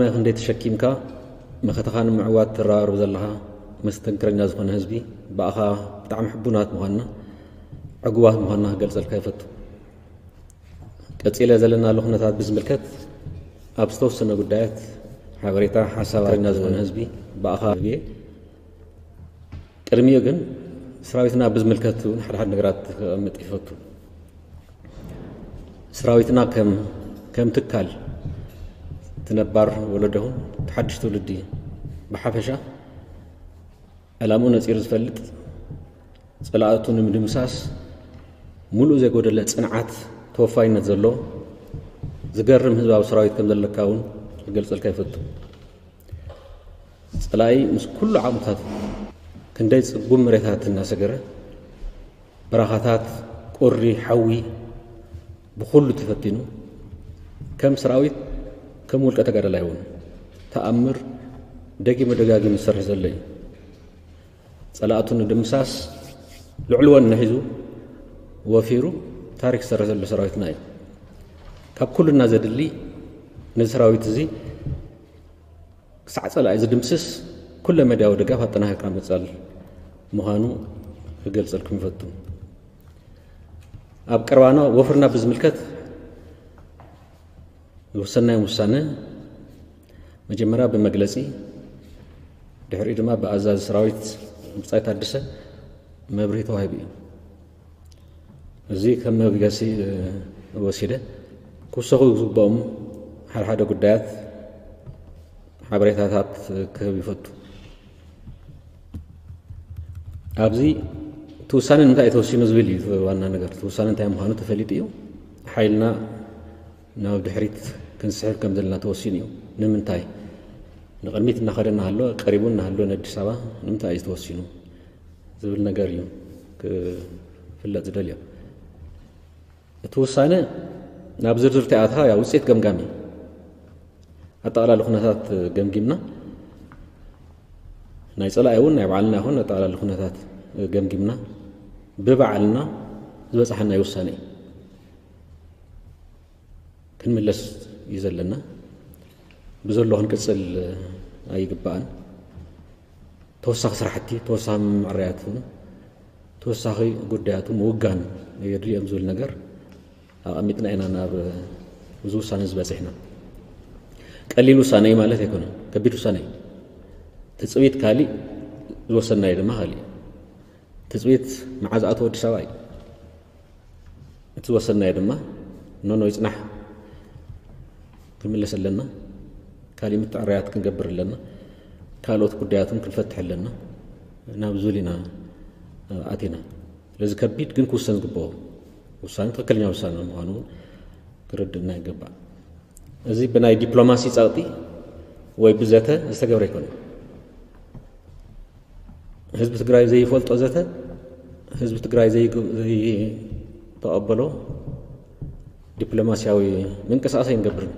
መ ክንደይ ተሸኪምካ መኸተኻ ንምዕዋት ትረባረብ ዘለኻ መስተንክረኛ ዝኾነ ህዝቢ ብኣኻ ብጣዕሚ ሕቡናት ምዃንና ዕጉባት ምዃንና ክገልጸልካ ይፈቱ። ቀጺለ ዘለናሉ ኩነታት ብዝምልከት ኣብ ዝተወሰነ ጉዳያት ሓበሬታ ሓሳብ ኣረኛ ዝኾነ ህዝቢ ብኣኻ ህዝቢ ቅድሚኡ ግን ሰራዊትና ብዝምልከት እውን ሓደ ሓደ ነገራት ክቐምጥ ይፈቱ። ሰራዊትና ከም ከም ትካል እቲ ነባር ወለዶ ይኹን እቲ ሓድሽ ትውልዲ ብሓፈሻ ዕላምኡ ነፂሩ ዝፈልጥ፣ ፀላእቱ ንምድምሳስ ሙሉእ ዘይጎደለ ፅንዓት ተወፋይነት ዘሎ ዝገርም ህዝባዊ ሰራዊት ከም ዘለካ እውን ክገልፀልካ ይፈቱ። ፀላኢ ምስ ኩሉ ዓቕምታቱ ክንደይ ፅጉም መሬታት እናሰገረ በረኻታት ቁሪ ሓዊ ብኩሉ ተፈቲኑ ከም ሰራዊት ከም ውልቀ ተጋዳላይ እውን ተኣምር ደጊሙ ደጋጊሙ ዝሰርሕ ዘሎ እዩ። ፀላእቱ ንምድምሳስ ልዕልወን ንሒዙ ወፊሩ ታሪክ ዝሰርሕ ዘሎ ሰራዊትና እዩ። ካብ ኩልና ዘድሊ ነዚ ሰራዊት እዚ ክሳዕ ፀላኢ ዝድምስስ ኩለ መዳያዊ ድጋፍ ኣጠናኺርካ ምቕፃል ምዃኑ ክገልፀልኩም ይፈቱ። ኣብ ቀረባና ወፍርና ብዝምልከት ዝወሰናዮም ውሳነ መጀመርያ ብመግለፂ ድሕሪኡ ድማ ብኣዛዚ ሰራዊት ብጻይ ታደሰ መብርሂ ተዋሂቡ እዩ። እዚ ከም መበገሲ ወሲደ ክውሰኹ ዝግብኦም ሓደ ሓደ ጉዳያት ሓበሬታታት ክህብ ይፈቱ። ኣብዚ እቲ ውሳነ ንምንታይ እዩ ተወሲኑ ዝብል እዩ ዋና ነገር። እቲ ውሳነ እንታይ ምዃኑ ተፈሊጡ እዩ። ሓይልና ናብ ድሕሪት ክንስሕብ ከም ዘለና ተወሲኑ እዩ። ንምንታይ ንቕድሚት እናኸደ እናሃሎ ቀሪቡ እናሃሎ ንኣዲስ ኣበባ ንምንታይ እዩ ተወሲኑ ዝብል ነገር እዩ ክፍለጥ ዝደልዮ። እቲ ውሳነ ናብ ዝርዝር ተኣትኻ ውፅኢት ገምጋሚ ኣጠቓላሊ ኩነታት ገምጊምና ናይ ፀላኢ እውን ናይ ባዕልና ይኹን ኣጠቓላሊ ኩነታት ገምጊምና ብባዕልና ዝበፅሓና ውሳነ እዩ። ክንምለስ እዩ ዘለና። ብዘሎ ክንቅፅል ኣይግባእን። ተወሳኺ ስራሕቲ ተወሳኺ ምዕረያት ተወሳኺ ጉዳያቱ ምውጋን የድልዮም ዝብል ነገር ኣቐሚጥና ኢና ናብ እዚ ውሳነ ዝበፅሕና። ቀሊል ውሳነ እዩ ማለት ኣይኮነን። ከቢድ ውሳነ እዩ። ትፅቢት ካሊእ ዝወሰናዮ ድማ ካሊእ። ትፅቢት መዓዝ ኣቶ ኣዲስ ኣበባ እዩ። እቲ ዝወሰናዮ ድማ ኖኖ ይፅናሕ ክንምለስ ኣለና። ካሊእ ምትዕርያት ክንገብር ኣለና። ካልኦት ጉዳያትን ክንፈትሕ ኣለና። ናብ ዝብል ኢና ኣቲና። ስለዚ ከቢድ ግን ክውሰን ዝግብኦ ውሳነ ትኽክለኛ ውሳነ ምዃኑ እውን ክርድእና ይገባእ። እዚ ብናይ ዲፕሎማሲ ጸቕጢ ወይ ብዘተ ዝተገብረ ኣይኮነን። ህዝቢ ትግራይ ዘይፈልጦ ዘተ፣ ህዝቢ ትግራይ ዘይተቐበሎ ዲፕሎማሲያዊ ምንቅስቃስ ኣይንገብርን።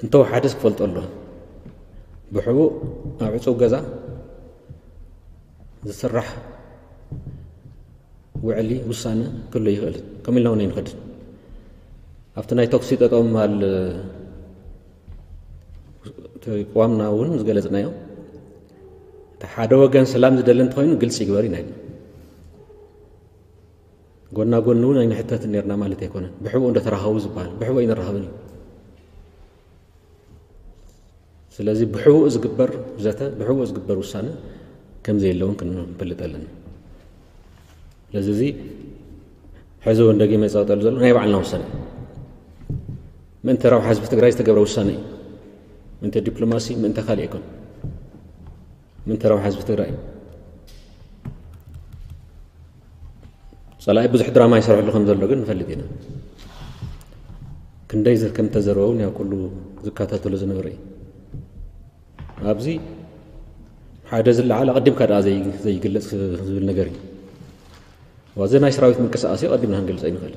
እንተወሓደስ ክፈልጦ ኣሎ። ብሕቡእ ኣብ ዕፁብ ገዛ ዝስራሕ ውዕሊ ውሳነ ክህሉ ይኽእል። ከም ኢልና እውን ኣይንኸድን። ኣብቲ ናይ ተኩሲ ጠጠው ምባል እቲ ቅዋምና እውን ዝገለፅናዮ፣ እቲ ሓደ ወገን ሰላም ዝደሊ እንተኾይኑ ግልፂ ይግበር ኢና ኢልና። ጎና ጎኒ እውን ኣይንሕተትን ነርና ማለት ኣይኮነን። ብሕቡእ እንደተራኸቡ ዝበሃል ብሕቡእ ኣይንራኸብን እዩ። ስለዚ ብሕቡእ ዝግበር ዘተ፣ ብሕቡእ ዝግበር ውሳነ ከም ዘየለውን ክንፈልጥ ኣለና። ስለዚ እዚ ሕዚ እውን ደጊመ ይፀቕጠሉ ዘሎ ናይ ባዕልና ውሳነ እዩ። ምእንቲ ረብሓ ህዝቢ ትግራይ ዝተገብረ ውሳነ እዩ። ምእንቲ ዲፕሎማሲ፣ ምእንቲ ካልእ ኣይኮን። ምእንቲ ረብሓ ህዝቢ ትግራይ እዩ። ፀላኢ ብዙሕ ድራማ ይሰርሐሉ ከም ዘሎ ግን ንፈልጥ ኢና። ክንደይ ከም ተዘረበ እውን ያው ኩሉ ዝከታተሎ ዝነበረ እዩ። ኣብዚ ሓደ ዝለዓል ኣቐዲምካ ደኣ ዘይ-፣ ዘይግለጽ ዝብል ነገር እዩ። ዋዚ ናይ ሰራዊት ምንቅስቃስ እዩ፣ ኣቐዲምና ክንገልጾ ኣይንኽእል።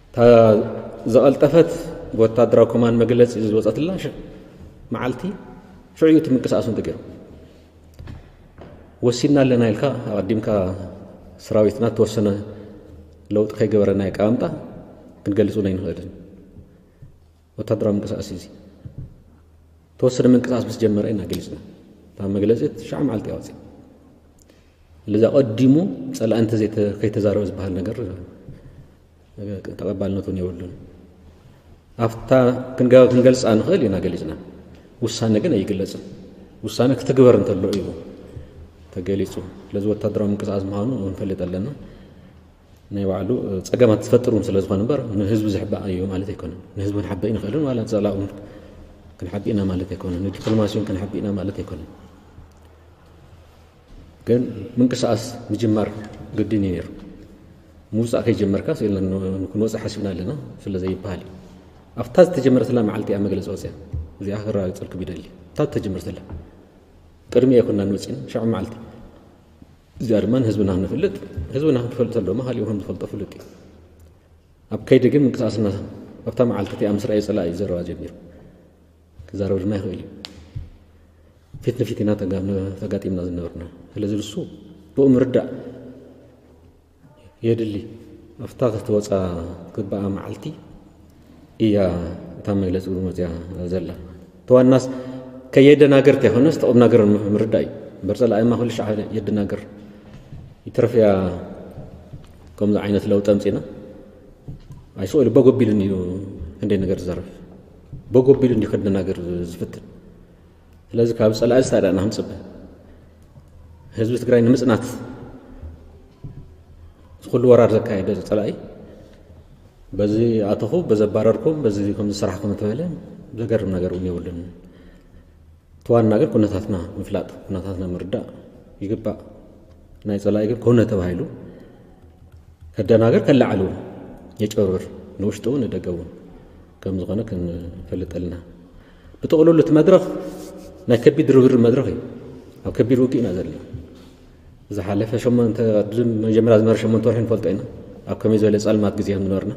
እታ ዝቐልጠፈት ብወታደራዊ ኮማንድ መግለጺ ዝወጸትላ ሽ-፣ መዓልቲ ሽዑ እዩ እቲ ምንቅስቃስ እውን ተገይሩ። ወሲና ኣለና ኢልካ ኣቐዲምካ ሰራዊትና እተወሰነ ለውጢ ከይገበረ ናይ ኣቀማምጣ ክንገልጽ እውን ኣይንኽእልን። ወታደራዊ ምንቅስቃስ እዚ ተወሰነ ምንቅስቃስ ምስ ጀመረ ኢና ገሊፅና። እታ መግለፂ ትሽዓ መዓልቲ ኣወፂ። ለዛ ቀዲሙ ፀላኢ እንተ ዘይተ- ከይተዛረበ ዝበሃል ነገር ተቐባልነት እውን የብሉን። ኣብታ ክንገ- ክንገልፃ ንኽእል ኢና ገሊፅና። ውሳነ ግን ኣይግለፅን። ውሳነ ክትግበር እንተሎ እዩ ተገሊፁ። ስለዚ ወታደራዊ ምንቅስቃስ ምዃኑ ክንፈልጥ ኣለና። ናይ ባዕሉ ፀገማት ዝፈጥር እውን ስለ ዝኾነ እምበር ንህዝቢ ዝሕባእ እዩ ማለት ኣይኮነን። ንህዝቢ ክንሓብእ ንኽእል ዋላ ንፀላእ እውን ክንሓብእ ኢና ማለት ኣይኮነን። ንዲፕሎማሲ እውን ክንሓብእ ኢና ማለት ኣይኮነን። ግን ምንቅስቃስ ምጅማር ግድን እዩ ነይሩ። ምውፃእ ከይጀመርካ ስኢልና ን- ክንወፅእ ሓሲብና ኣለና ስለ ዘይበሃል እዩ። ኣብታ ዝተጀመረትላ መዓልቲ እያ መግለፂ ወፅያ። እዚኣ ክረጋግፀልኩም ይደሊ። ኣብታ ዝተጀመረትላ ቅድሚ ኣይኮንና ንወፂና ሸዑ መዓልቲ። እዚኣ ድማ ንህዝብና ክንፈልጥ ህዝብና ክንፈልጥ ኣለዎ። መሃሊኡ ከም ዝፈልጦ ፍሉጥ እዩ። ኣብ ከይዲ ግን ምንቅስቃስና ኣብታ መዓልቲ እቲኣ ምስ ረኣየ ፀላኢ እዩ ዘረባ ጀሚሩ። ክዛረብ ድማ ይኽእል እዩ። ፊት ንፊት ኢና ተጋ- ተጋጢምና ዝነበርና። ስለዚ ንሱ ብኡ ምርዳእ የድሊ። ኣብታ ክትወፃ ግባኣ መዓልቲ እያ እታ መግለፂ እውን ወፅያ ዘላ። ተዋናስ ከየደናገር ተይኮነስ ተቁም ነገር ምርዳእ እዩ። እምበር ፀላኢማ ኩሉ ሻዕ የደናገር ይትረፍያ። ከምዚ ዓይነት ለውጢ ኣምፂና ኣይስእሉ በጎ ቢሉን እዩ። ክንደይ ነገር ዝዘርፍ በጎ ቢሉን እዩ ከደናገር ዝፍትን። ስለዚ ካብ ፀላኢ ዝታዳእና ክንፅበ ህዝቢ ትግራይ ንምፅናት ኩሉ ወራር ዘካየደ ፀላኢ በዚ ኣተኹ በዚ ኣባረርኩም በዚ ከም ዝሰራሕኩም ተበለ ዘገርም ነገር እውን የብሉን። እቲ ዋና ግን ኩነታትና ምፍላጥ ኩነታትና ምርዳእ ይግባእ። ናይ ፀላኢ ግን ኮነ ተባሂሉ ከደናገር ከለዓሉ የጭበርብር ንውሽጡ እውን ንደገ እውን ከም ዝኾነ ክንፈልጥ ኣለና። ብጥቕልሉ እቲ መድረኽ ናይ ከቢድ ርብርብ መድረኽ እዩ። ኣብ ከቢድ ውግእ ኢና ዘለና። ዝሓለፈ ሸሞንተ መጀመርያ ዝነበረ ሸሞንተ ወርሒ ንፈልጦ ኢና ኣብ ከመይ ዝበለ ጸልማት ግዜ ከም ዝነበርና።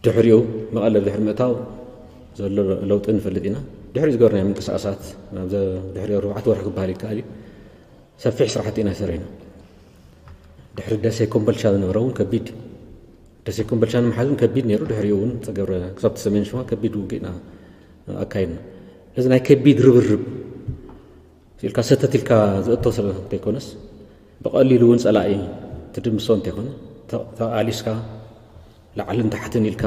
ድሕሪኡ መቐለ ድሕሪ ምእታው ዘሎ ለውጢ ንፈልጥ ኢና። ድሕሪኡ ዝገበርናዮ ምንቅስቃሳት ናብ ድሕሪ ኣርባዕተ ወርሒ ክበሃል ይከኣል እዩ። ሰፊሕ ስራሕቲ ኢና ሰሪሕና። ድሕሪ ደሴ ኮምቦልቻ ዝነበረ እውን ከቢድ ደሴ ኮምቦልቻ ንምሓዝ እውን ከቢድ ነይሩ። ድሕሪኡ እውን ዝተገብረ ክሳብ ሰሜን ሸዋ ከቢድ ውግእና ኣካይድና። እዚ ናይ ከቢድ ርብርብ ኢልካ ሰተት ኢልካ ዝእቶ ስለ እንተይኮነስ ብቐሊሉ እውን ፀላኢ ትድምሶ እንተይኮነ ተቓሊስካ ላዕልን ታሕትን ኢልካ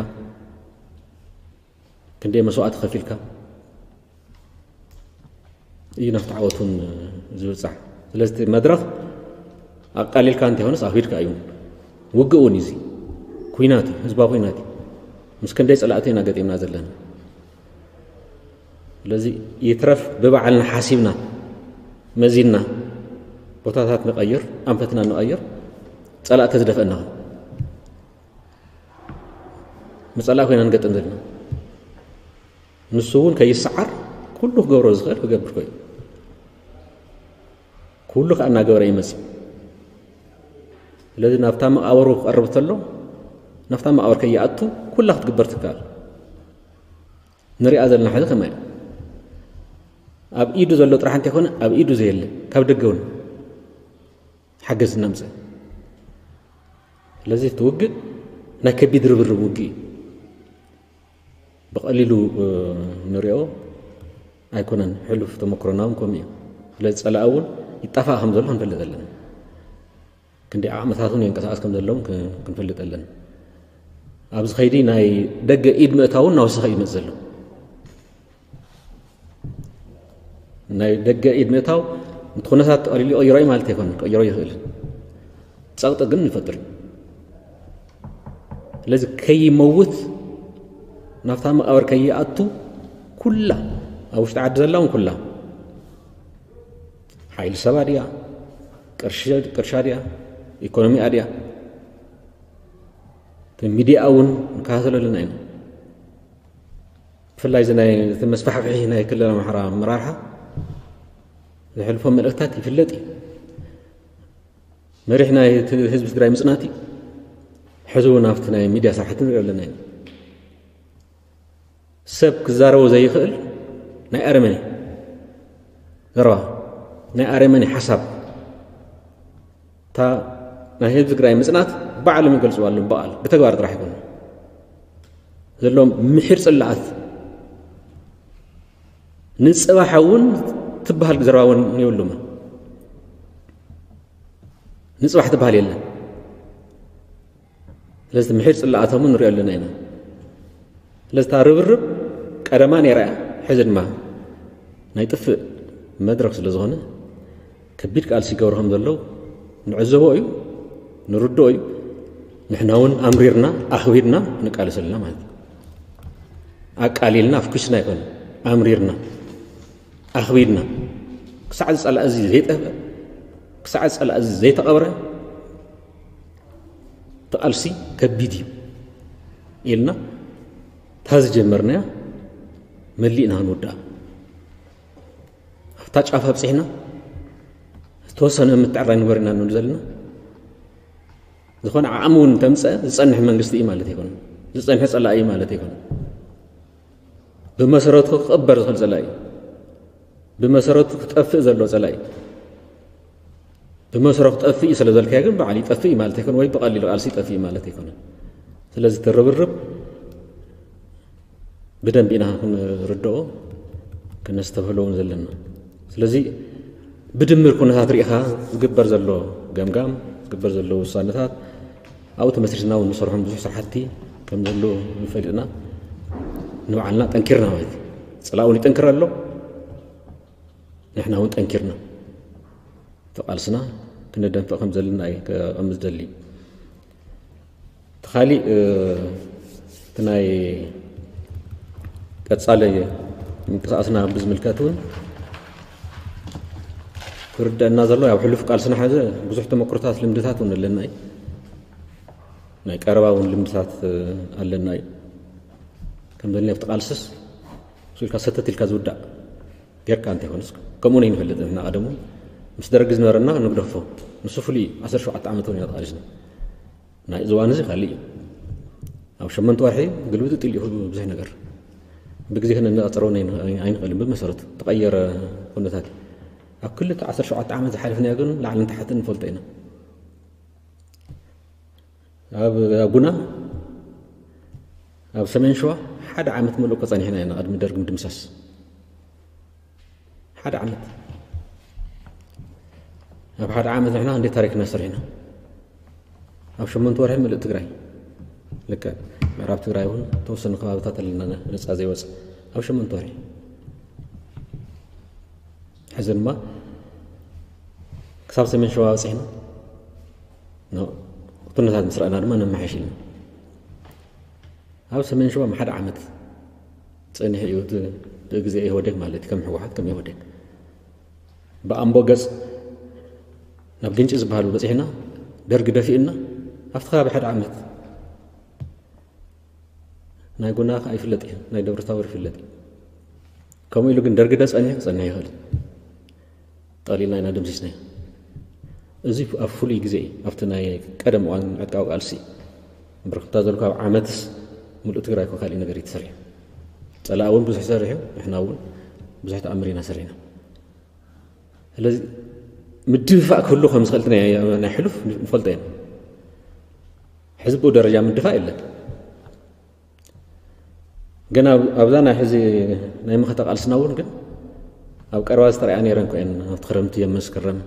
ክንደይ መስዋእቲ ከፊልካ እዩ ናብቲ ዓወቱን ዝብፃሕ። ስለዚ መድረኽ ኣቃሊልካ እንተይኮነስ ኣኺድካ እዩ። ውግእ እውን እዚ ኩናት እዩ፣ ህዝባዊ ኩናት እዩ። ምስ ክንደይ ፀላእቲ ኢና ገጢምና ዘለና። ስለዚ ይትረፍ ብባዕልና ሓሲብና መዚንና ቦታታት ንቐይር፣ ኣንፈትና ንቐይር። ፀላእቲ ዝደፈእና ንፀላእ ኮይና ንገጥም ዘለና። ንሱ እውን ከይሰዓር ኩሉ ክገብሮ ዝኽእል ክገብር ኮይኑ ኩሉ ከዓ እናገበረ ይመፅእ። ስለዚ ናብታ መቃብሩ ክቐርብ ተሎ ናብታ መቃብር ከይኣቱ ኩላ ክትግበር ትከኣል። ንሪኣ ዘለና ሕዚ ከማይ ኣብ ኢዱ ዘሎ ጥራሕ እንተይኮነ ኣብ ኢዱ ዘየለ ካብ ደገ እውን ሓገዝ እናምፀ። ስለዚ እቲ ውግእ ናይ ከቢድ ርብርብ ውግእ እዩ። ብቐሊሉ ንሪኦ ኣይኮነን። ሕሉፍ ተመክሮና እውን ከምኡ እዩ። ስለዚ ፀላኢ እውን ይጣፋእ ከም ዘሎ ክንፈልጥ ኣለና። ክንደይ ዓቕምታት እውን የንቀሳቐስ ከም ዘለውን ክንፈልጥ ኣለና። ኣብዚ ከይዲ ናይ ደገ ኢድ ምእታውን እናወሰኸ እዩ ዝመፅእ ዘሎ። ናይ ደገ ኢድ ምእታው እቲ ኩነታት ቀሊሉ ይቕይሮ እዩ ማለት ኣይኮነን፣ ክቕይሮ ይኽእልን ፀቕጢ ግን ይፈጥር እዩ። ስለዚ ከይመውት ናብታ መቃብር ከይኣቱ ኩላ ኣብ ውሽጢ ዓዲ ዘላ እውን ኩላ ሓይሊ ሰባ ድያ ቅርሻ ድያ ኢኮኖሚኣ ድያ እቲ ሚዲያ እውን ንከታተሎ ኣለና ኢና። ብፍላይ እዚ ናይ እቲ መስፋሕፍሒ ናይ ክልል ኣምሓራ ኣመራርሓ ዘሕልፎ መልእክታት ይፍለጥ እዩ። መሪሕ ናይ ህዝቢ ትግራይ ምፅናት እዩ። ሕዚ እውን ኣብቲ ናይ ሚድያ ስራሕቲ ንሪኦ ኣለና ኢና። ሰብ ክዛረቦ ዘይኽእል ናይ ኣረመኔ ዘረባ ናይ ኣረመኔ ሓሳብ እታ ናይ ህዝቢ ትግራይ ምፅናት ባዕሎም ይገልፅዋ ኣለዉ ብቓል ብተግባር ጥራሕ ይኮኑ። ዘለዎም ምሒር ጽላኣት፣ ንጽባሕ እውን ትበሃል ዘረባ እውን የብሉምን። ንጽባሕ ትበሃል የለን። ስለዚ ምሒር ጽላኣቶም ንሪኦ ኣለና ኢና። ስለዚ እታ ርብርብ ቀደማ ነይራ እያ፣ ሕዚ ድማ ናይ ጥፍእ መድረኽ ስለ ዝኾነ ከቢድ ቃልሲ ይገብሩ ከም ዘለዉ ንዕዘቦ እዩ፣ ንርድኦ እዩ። ንሕና እውን ኣምሪርና ኣኽቢድና ንቃለስ ኣለና ማለት እዩ። ኣቃሊልና ኣፍኲስና ኣይኮነ፣ ኣምሪርና ኣኽቢድና ክሳዕ እዚ ጸላኢ እዚ ዘይጠፍአ፣ ክሳዕ እዚ ጸላኢ እዚ ዘይተቐብረ እቲ ቃልሲ ከቢድ እዩ ኢልና እታ ዝጀመርናያ መሊእና ክንውድኣ ኣብታ ጫፍ ኣብፂሕና ዝተወሰነ ምትዕራይ ንግበር ኢና ንብል ዘለና። ዝኾነ ዓቕሚ እውን ተምፀ ዝፀንሕ መንግስቲ እዩ ማለት ኣይኮነን። ዝፀንሐ ፀላኢ እዩ ማለት ኣይኮነን። ብመሰረቱ ክቕበር ዝኽእል ፀላኢ እዩ። ብመሰረቱ ክጠፍእ ዘሎ ፀላኢ እዩ። ብመሰረቱ ክጠፍእ እዩ ስለ ዘልካዮ ግን በዓል ይጠፍእ እዩ ማለት ኣይኮነን፣ ወይ ብቐሊሉ ቃልሲ ይጠፍእ እዩ ማለት ኣይኮነን። ስለዚ እቲ ርብርብ ብደንቢ ኢና ክንርድኦ ክነስተብህሎ እውን ዘለና። ስለዚ ብድምር ኩነታት ርኢኻ ዝግበር ዘሎ ገምጋም፣ ዝግበር ዘሎ ውሳነታት ኣብኡ ተመስሪትና እውን ንሰርሖም ብዙሕ ስራሕቲ ከም ዘለዉ ፈሊጥና ንባዕልና ጠንኪርና ማለት እዩ። ጸላኢ እውን ይጠንክር ኣሎ፣ ንሕና እውን ጠንኪርና እቲ ቃልስና ክነደንፍዕ ከም ዘለና እዩ ከቐምጥ ዝደሊ። እቲ ካሊእ እቲ ናይ ቀጻሊ ምንቅስቃስና ብዝምልከት እውን ክርደአና ዘሎ ኣብ ሕሉፍ ቃልስና ሓዘ ብዙሕ ተመክሮታት ልምድታት እውን ኣለና እዩ። ናይ ቀረባ እውን ልምድታት ኣለና እዩ። ከም ዘለ ኣብቲ ቃልስስ እሱ ኢልካ ሰተት ኢልካ ዝውዳእ ጌርካ እንተይኮነስ ከምኡ ነይንፈልጥ ንሕና ቀደሙ ምስ ደርጊ ዝነበረና ንግደፎ ንሱ ፍሉይ ዓሰርተ ሸውዓተ ዓመት እውን ኢና ተቃሊስና። ናይ ዝዋን እዚ ካልእ እዩ። ኣብ ሸመንተ ወርሒ ግልብጥ ጥልኡ ብዙሕ ነገር ብግዜ ክንነጻጸሮ ኣይንኽእልን። ብመሰረቱ ተቐየረ ኩነታት እዩ። ኣብ ክልተ ዓሰርተ ሸውዓተ ዓመት ዝሓለፍናዮ ግን ላዕልን ታሕትን ንፈልጦ ኢና። ኣብ ጉና ኣብ ሰሜን ሸዋ ሓደ ዓመት ምሉእ ከጸኒሕና ኢና ቅድሚ ደርግ ምድምሳስ። ሓደ ዓመት ኣብ ሓደ ዓመት ንሕና እንዴት ታሪክና ሰሪሕና ኣብ ሸመንተ ወርሒ ምልእ ትግራይ ልክዕ ምዕራብ ትግራይ እውን ተወሰኑ ከባብታት ኣለና ነፃ ዘይወፅ ኣብ ሸመንተ ወርሒ ሕዚ ድማ ክሳብ ሰሜን ሸዋ በፂሕና ኩነታት ምስ ረኣና ድማ ነመሓይሽ ኢልና ኣብ ሰሜን ሸዋ ሓደ ዓመት ፀኒሑ እዩ እቲ ግዜ ኢህወደግ ማለት ከም ህወሓት ከም ኢህወደግ ብኣምቦ ገፅ ናብ ግንጪ ዝበሃል በፂሕና ደርጊ ደፊእና ኣብቲ ከባቢ ሓደ ዓመት ናይ ጉና ከዓ ይፍለጥ እዩ ናይ ደብረታቦር ይፍለጥ እዩ ከምኡ ኢሉ ግን ደርጊ ደ ፀኒሑ ክፀንሕ ይኽእል ጠቕሊልና ኢና ደምሲስናዮ እዚ ኣብ ፍሉይ ግዜ እዩ ኣብቲ ናይ ቀደም እዋን ዕጥቃዊ ቃልሲ ብርክታ ዘልኩ ኣብ ዓመትስ ሙሉእ ትግራይ እኮ ካሊእ ነገር እዩ ተሰሪሑ ፀላእ እውን ብዙሕ ሰሪሑ ንሕና እውን ብዙሕ ተኣምር ኢና ሰሪሕና ስለዚ ምድፍፋእ ክህሉ ከም ዝኽእል ናይ ሕሉፍ ንፈልጦ ኢና ሕዚ ብኡ ደረጃ ምድፋእ የለን ግን ኣብዛ ናይ ሕዚ ናይ መኸተ ቃልስና እውን ግን ኣብ ቀረባ ዝተረኣያ ነይረን ኮየን ኣብቲ ክረምቲ የመስክረም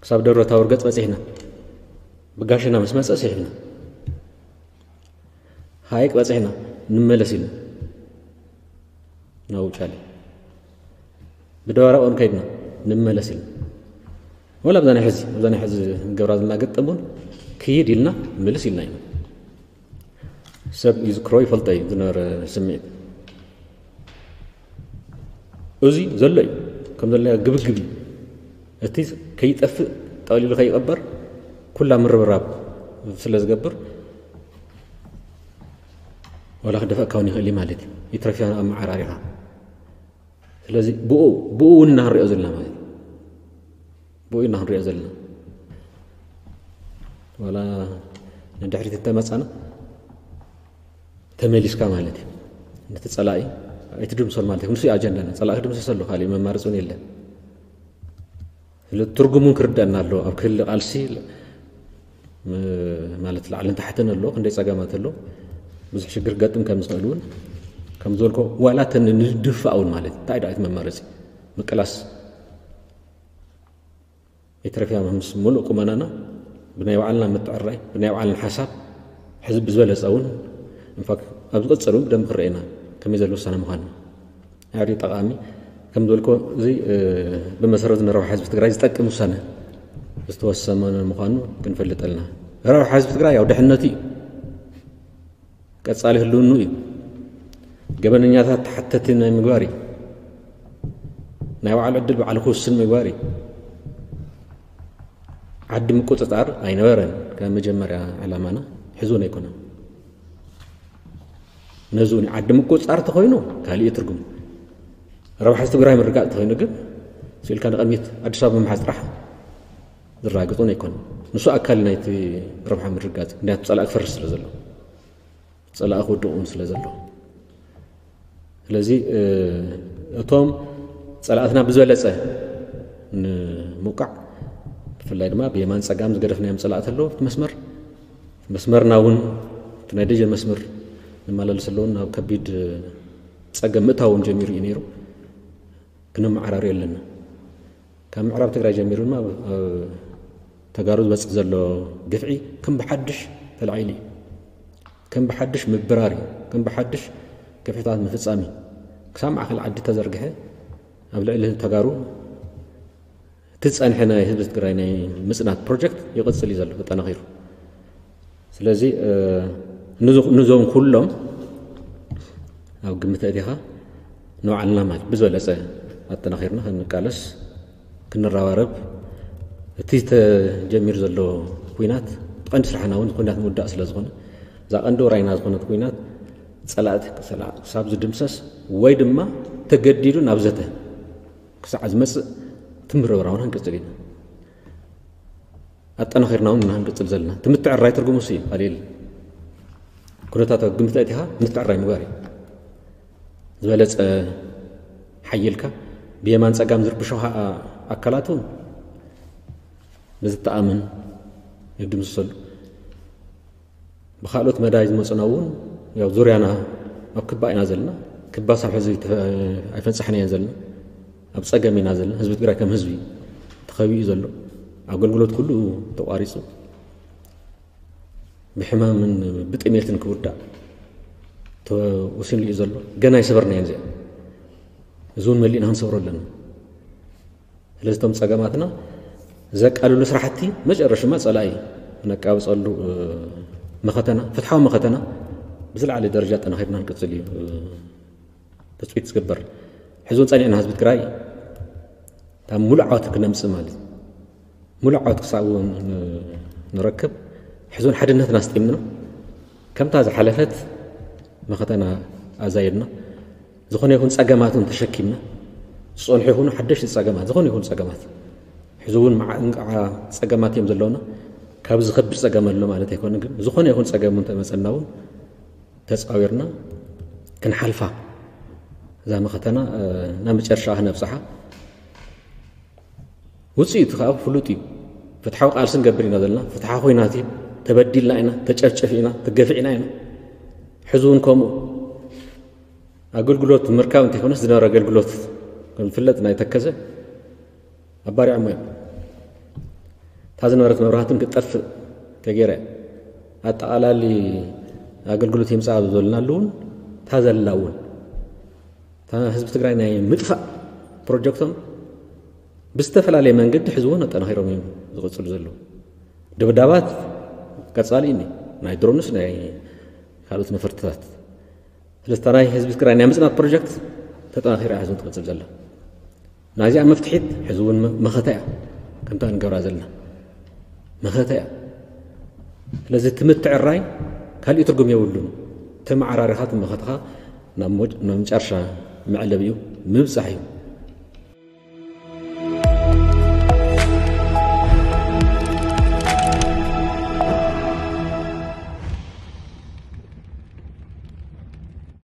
ክሳብ ደብረ ታቦር ገፅ በፂሕና ብጋሽና ምስ መፀ ስሒብና ሃይቅ በፂሕና ንመለስ ኢልና ናብ ውጫሌ ብደባራቆን ከይድና ንመለስ ኢልና ወላ ኣብዛ ናይ ሕዚ ኣብዛ ናይ ሕዚ ገብራ ዘለና ገጠም እውን ክይድ ኢልና ምልስ ኢልና ኢና ሰብ ይዝክሮ ይፈልጦ እዩ ዝነበረ ስምዒት እዚ ዘሎ እዩ ከም ዘለና ግብግብ እዩ እቲ ከይጠፍእ ጠቕሊሉ ከይቐበር ኩላ ምርብራብ ስለ ዝገብር ዋላ ክደፈእካ እውን ይኽእል እዩ ማለት እዩ ይትረፍያ ኣመዓራሪኻ ስለዚ ብኡ ብኡ እውን እናንሪኦ ዘለና ማለት እዩ ብኡ ኢና ክንሪኦ ዘለና ዋላ ንድሕሪት እንተመፃና ተመሊስካ ማለት እዩ ነቲ ፀላኢ ኣይትድምሰሉ ማለት እዩ ንሱ ኣጀንዳና ፀላኢ ክድምሰሰሉ ካሊእ መማረፂ እውን የለን ስለ ትርጉሙን ክርደአና ኣለዎ ኣብ ክሊ ቃልሲ ማለት ላዕልን ታሕትን ኣሎ ክንደይ ፀገማት ኣሎ ብዙሕ ሽግር ገጥም ከም ዝኽእል እውን ከም ዝበልኮ ዋላ ተን ንድፋእ እውን ማለት እንታይ ዳዊት መመረፂ ምቅላስ ኢትዮጵያ ምስ ሙሉእ ቁመናና ብናይ ባዕልና ምትዕራይ ብናይ ባዕልና ሓሳብ ሕዚ ብዝበለፀ እውን እንፋክ ኣብ ዝቐፀሉ ብደንብ ክረአና ከመይ ዘሎ ውሳነ ምዃኑ ኣሪ ጠቓሚ ከም ዝበልኮ እዚ ብመሰረት ንረብሓ ህዝቢ ትግራይ ዝጠቅም ውሳነ ዝተወሰነ ምዃኑ ክንፈልጠልና ረብሓ ህዝቢ ትግራይ ያው ድሕነቱ እዩ ቀጻሊ ህልውኑ እዩ ገበነኛታት ተሓተቲ ናይ ምግባር እዩ ናይ ባዕሉ ዕድል ባዕሉ ክውስን ምግባር እዩ ዓዲ ምቁፅፃር ኣይነበረን ካብ መጀመርያ ዕላማና ሕዝውን ኣይኮነን ነዚ እውን ዓዲ ምቁፅፃር ተኮይኑ ካልእ ትርጉም ረብሓ ትግራይ ምርጋፅ ተኮይኑ ግን ስኢልካ ንቀድሚት ኣዲስ ኣበባ ምሓዝ ጥራሕ ዝራግፁን ኣይኮነን ንሱ ኣካል ናይቲ ረብሓ ምርጋፅ ምክንያቱ ፀላእ ክፈርስ ስለ ዘሎ ፀላእ ክውድቕ እውን ስለ ዘሎ ስለዚ እቶም ፀላእትና ብዝበለፀ ንምውቃዕ ብፍላይ ድማ ብየማን ፀጋም ዝገደፍናዮም ፀላእቲ ኣለዉ እቲ መስመር መስመርና እውን እቲ ናይ ደጀን መስመር ንመላለስ ኣለውን ናብ ከቢድ ፀገም ምእታዎም ጀሚሩ እዩ ነይሩ ክንመዓራርዮ ኣለና ካብ ምዕራብ ትግራይ ጀሚሩ ድማ ተጋሩ ዝበፅእ ዘሎ ግፍዒ ከም ብሓድሽ ተላዒሉ እዩ ከም ብሓድሽ ምብራር እዩ ከም ብሓድሽ ግፍዕታት ምፍፃም እዩ ክሳብ ማእከል ዓዲ ተዘርግሐ ኣብ ልዕሊ ተጋሩ እቲ ዝፀንሐ ናይ ህዝቢ ትግራይ ናይ ምፅናት ፕሮጀክት ይቕፅል እዩ ዘሎ ተጠናኺሩ ስለዚ ንዞም ኩሎም ኣብ ግምት ኣእቲኻ ንባዕልና ማለት ብዝበለፀ ኣጠናኺርና ክንቃለስ ክንረባረብ እቲ ተጀሚሩ ዘሎ ኩናት ቀንዲ ስራሕና እውን ኩናት ምውዳእ ስለ ዝኾነ እዛ ቀንዲ ወራይና ዝኾነት ኩናት ፀላእቲ ክሳብ ዝድምሰስ ወይ ድማ ተገዲዱ ናብ ዘተ ክሳዕ ዝመፅእ ትምርብራውን ክንቅፅል ኢና ኣጠናኺርና እውን ኢና ክንቅፅል ዘለና እቲ ምትዕራይ ትርጉሙ ሲ እዩ ካልእ ኩነታት ኣብ ግምት ኣእቲኻ ምትዕራይ ምግባር እዩ ዝበለፀ ሓይልካ ብየማን ፀጋም ዝርብሾ ኣካላት እውን ብዝተኣምን ይድምስሰሉ ብካልኦት መዳይ ዝመፁና እውን ያው ዙርያና ኣብ ክባ ኢና ዘለና ክባ ሳብ ሕዚ ኣይፈንፃሕናየን ዘለና ኣብ ፀገም ኢና ዘለና ህዝቢ ትግራይ ከም ህዝቢ ተኸቢኡ ዘሎ ኣገልግሎት ኩሉ ተቋሪፁ ብሕማምን ብጥሜትን ክውዳእ ተወሲኑ እዩ ዘሎ ገና ይሰበርናየን እዚኣ እዚ እውን መሊእና ክንሰብሮ ኣለና ስለዚ እቶም ፀገማትና ዘቃልሉ ስራሕቲ መጨረሽማ ፀላኢ ነቃብፀሉ መኸተና ፍትሓዊ መኸተና ብዝለዓለ ደረጃ ጠናኺርና ንቅፅል እዩ ትፅቢት ዝግበር ሕዚ እውን ፀኒዕና ህዝቢ ትግራይ ካብ ሙሉእ ዓወት ክነምፅእ ማለት ሙሉእ ዓወት ክሳብ እውን ንረክብ ሕዚ እውን ሓድነትና ኣስጢምና ከምታ ዝሓለፈት መኸተና ኣዛይድና ዝኾነ ይኹን ፀገማት እውን ተሸኪምና ዝፀንሑ ይኹኑ ሓደሽቲ ፀገማት ዝኾነ ይኹን ፀገማት ሕዚ እውን እንቃዓ ፀገማት እዮም ዘለውና ካብ ዝኸብድ ፀገም ኣሎ ማለት ኣይኮነ ግን ዝኾነ ይኹን ፀገም እውን ተመፀና እውን ተፃዊርና ክንሓልፋ እዛ መኸተና ናብ መጨረሻ ክነብፅሓ ውፅኢቱ ከዓ ፍሉጥ እዩ ፍትሓዊ ቃልሲ ንገብር ኢና ዘለና ፍትሓ ኮይናት እዩ ተበዲልና ኢና ተጨፍጨፍ ኢና ተገፊዕና ኢና ሕዚ እውን ከምኡ ኣገልግሎት ምርካብ እንተይኮነስ ዝነበረ ኣገልግሎት ከምዝፍለጥ ናይ ተከዘ ኣባሪዖሞ እዮም እታ ዝነበረት መብራህትን ክትጠፍእ ተገይረ ኣጠቓላሊ ኣገልግሎት የምፃእ ኣብ ዝበልናሉ እውን እታ ዘላ እውን እታ ህዝቢ ትግራይ ናይ ምጥፋእ ፕሮጀክቶም ብዝተፈላለየ መንገዲ ሕዚ እውን ኣጠናኺሮም እዮም ዝቕፅሉ ዘለዉ ድብዳባት ቀፃሊ እዩ ናይ ድሮንስ ናይ ካልኦት ነፈርትታት ስለዚ ናይ ህዝቢ ትግራይ ናይ ምፅናት ፕሮጀክት ተጠናኺራ ሕዚ ትቕፅል ዘላ ናዚኣ መፍትሒት ሕዚ እውን መኸተ እያ ከምታ ንገብራ ዘለና መኸተ እያ ስለዚ እቲ ምትዕራይ ካሊእ ትርጉም የብሉን ተመዓራሪኻ ትመኸትኻ ናብ መጨረሻ መዕለቢ እዩ ምብፃሕ እዩ